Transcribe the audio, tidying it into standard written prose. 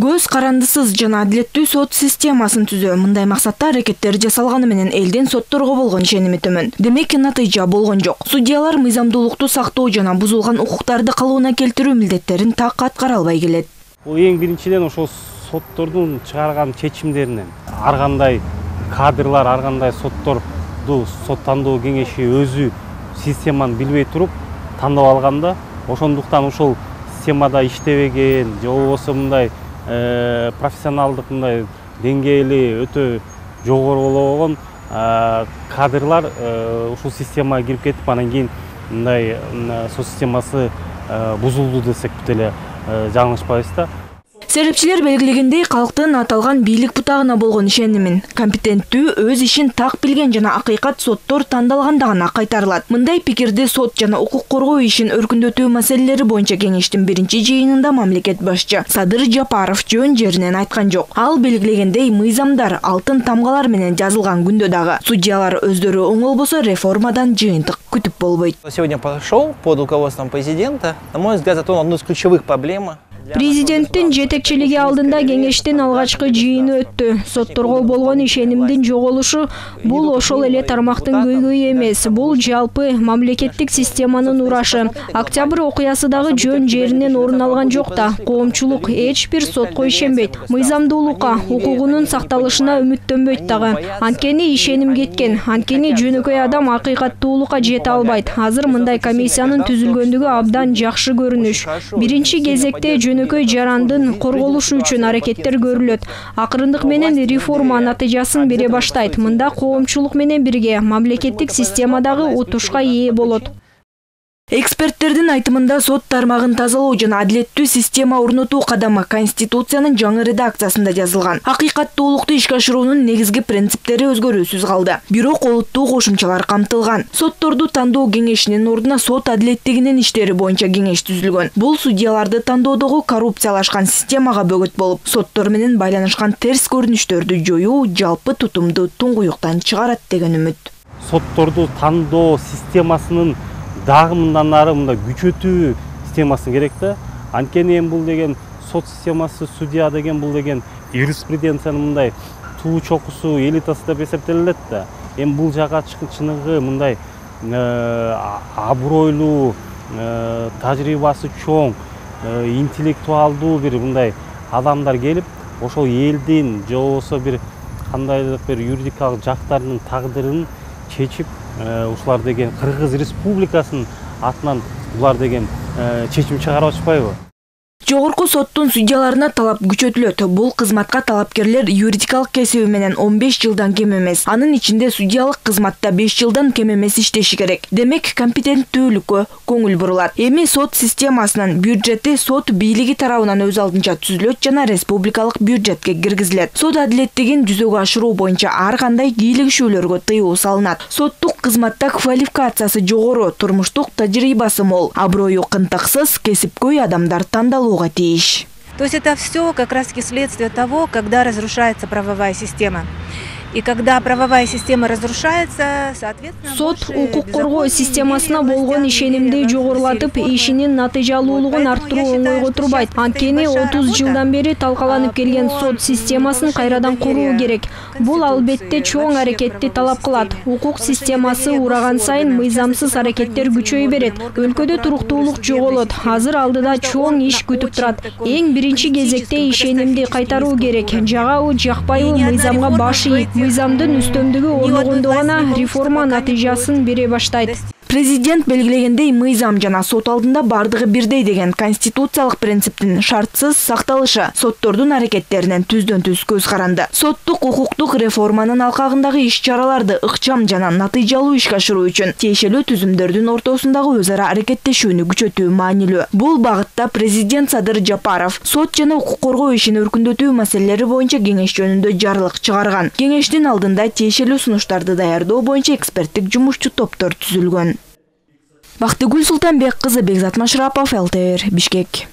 Көз карандысыз жана адилеттүү сот системасын түзөө мындай максатта аракеттер жасалганы менен элдин сотторго болгон ишеними төмөн. Демек натыйжа болгон жок. Судьялар мыйзамдуулукту сактоо жана бузулган укуктарды калыбына келтирүү милдеттерин так аткара албай келет. Бул эң биринчиден ошол соттордун чыгарган чечимдеринен ар кандай кадрлар, ар кандай сотторду сот тандоо кеңеши өзү системаны билбей туруп тандап алганда, ошондуктан ошол системада иштебеген же болбосо мындай профессионалдык мындай деңгээли өтө жогору болгон кадрлар ушул системага кирип кетип, анан кийин мындай сот системасы бузулду десек деле жаңылышпайбыз да. Серепчилер белгилегендей, калктын аталган бийлик бутагына болгон ишенимин компетенттүү, өз ишин так билген жана акыйкат соттор тандалганда гана кайтарылат. Мындай пикирди сот жана укук коргоо ишин өркүндөтүү маселелери боюнча кеңештин биринчи жыйынында мамлекет башчы Садыр Жапаров жөн жеринен айткан жок. Ал белгилегендей, мыйзамдар алтын тамгалар менен жазылган күндө дагы судьялар өздөрү оңолбосо реформадан жыйынтык күтүп болбойт. Сегодня пошел под руководством президента. На мой взгляд, затронул одну из ключевых проблем. Президенттин жетекчилиги алдында кеңештин алгачкы жыйыны өттү. Сотторго болгон ишенимдин жоголушу бул ошол эле тармактын көйгөйү эмес, бул жалпы мамлекеттик системанын урашы. Октябрь окуясы дагы жөн жеринен орун алган жок да. Коомчулук эч бир сотко ишенбейт. Мыйзамдуулукка, укугунун сакталышына үмүттөнбөйт дагы. Анткени ишеним кеткен. Анткени жөнөкөй адам акыйкаттуулукка жете албайт. Азыр мындай комиссиянын түзүлгөндүгү абдан жакшы көрүнүш. Биринчи кезекте жөнөкөй жарандын корголушу үчүн аракеттер көрүлөт. Акырындык менен реформа натыйжасын бере баштайт. Мында коомчулук менен бирге мамлекеттик системадагы утушка ээ болот. Эксперттердин айтымында сот тармагын тазалоо жана адилеттүү система орнотуу кадамы Конституциянын жаңы редакциясында жазылган. Акыйкаттуулукту ишке ашыруунун негизги принциптери өзгөрүүсүз калды. Бирок олуттуу кошумчалар камтылган. Сотторду тандоо кеңешинин ордуна сот адилеттигинин иштери боюнча кеңеш түзүлгөн. Бул судьяларды тандоодогу коррупциялашкан системага бөгөт болуп, соттор менен байланышкан терс көрүнүштөрдү жоюу, жалпы тутумду туңгуюктан чыгарат деген үмүт. Сотторду тандоо системасынын дагы мындан ары мындай күчөтүү системасы керек да. Анткени бул деген сот системасы, судья деген бул деген юриспруденциянын мындай туу чокусу, элитасы деп эсептелет да. Бул жака чыныгы мындай абройлуу, тажрыйбасы чоң, интеллектуалдуу бир мындай адамдар келип, ошол элдин же болбосо бир кандайдыр бир юридикалык жактарынын тагдырын чечип, ушулар деген Кыргыз Республикасынын атынан булар деген чечим чыгарып атышпайбы? Жогорку соттун судьяларына талап күчөтүлөт. Бул кызматка талапкерлер юридикалык кесиби менен 15 жылдан кем эмес. Анын ичинде судьялык кызматта 5 жылдан кем эмес иштеши керек. Демек, компетенттүүлүккө көңүл бурулат. Эми сот системасынын бюджети сот бийлиги тарабынан өз алдынча түзүлөт жана республикалык бюджетке киргизилет. Сот адилеттигин жүзөгө ашыруу боюнча ар кандай кийлигишүүлөргө тыюу салынат. Соттук кызматта квалификациясы жогору, турмуштук тажрыйбасы мол, аброю кынтыксыз, кесипкөй адамдар тандалууга тиеш. То есть это все как раз следствие того, когда разрушается правовая система. И когда правовая система разрушается, соответственно, сот укук коргоо системасына болгон ишенимди жогорулатып, ишинин натыйжалуулугун арттыруу оңойго турбайт. Анткени 30 жылдан бери талкаланып келген сот системасын кайрадан куруу керек. Бул албетте чоң аракетти талап кылат. Укук системасы ураган сайын мыйзамсыз аракеттер күчөй берет. Өлкөдө туруктуулук жоголот. Азыр алдыда чоң иш күтүп турат. Эң биринчи кезекте ишенимди кайтаруу керек. Жагабы, жакпайбы мыйзамга баш ийип, мыйзамдын үстөмдүгү орногондо гана реформа натыйжасын бере баштайт. Президент белгилегендей, мыйзам жана сот алдында бардыгы бирдей деген конституциялык принциптин шартсыз сакталышы соттордун аракеттеринен түздөн-түз көз каранды. Соттук укуктук реформанын алкагындагы иш-чараларды ыкчам жана натыйжалуу ишке ашыруу үчүн тиешелүү түзүмдөрдүн ортосундагы өз ара аракеттешүүнү күчөтүү маанилүү. Бул багытта президент Садыр Жапаров сот жана укук коргоо ишин өркүндөтүү маселелери боюнча кеңеш жөнүндө жарлык чыгарган. Кеңештин алдында тиешелүү сунуштарды даярдоо боюнча эксперттик жумушчу топтор түзүлгөн. Бактыгүл Султанбек кызы, Бекзат Машрапов, ЛТР, Бишкек.